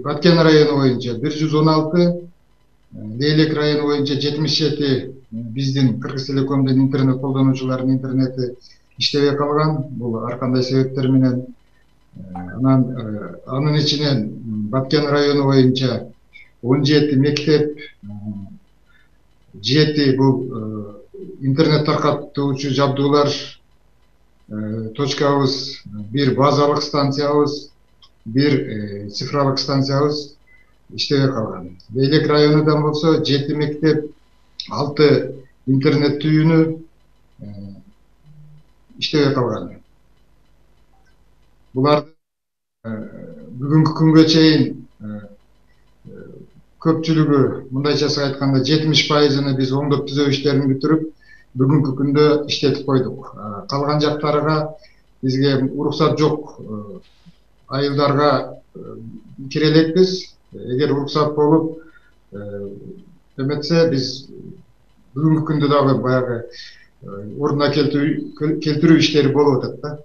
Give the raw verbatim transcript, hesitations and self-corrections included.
Баткен району боюнча бир жүз он алты, Лейлек району боюнча жетимиш жети биздин Кыргыз Телекомдун интернет колдонуучуларынын интернети иштебей калган. Бул ар кандай себептер менен. Анан анын ичинен Баткен району боюнча он жети мектеп, жети бул интернет таркатуучу жабдуулар точкабыз, бир базалык станциябыз, бир цифрлык станциябыз иштебей калган. Лейлек районундан болсо жети мектеп, алты интернет түйүнү иштебей калган. Буларды бүгүнкү күнгө чейин көпчүлүгү, мындайчасы айтканда жетимиш пайызын биз оңдоп түзөө иштерин бүтүрүп, бүгүнкү күндө иштетип койдук. Калган жактарга бизге уруксат жок айылдарга кире элекпиз. Эгер уруксат болуп эметсе, биз бүгүнкү күндө дагы баягы ордуна келтирүү иштери болуп атат да.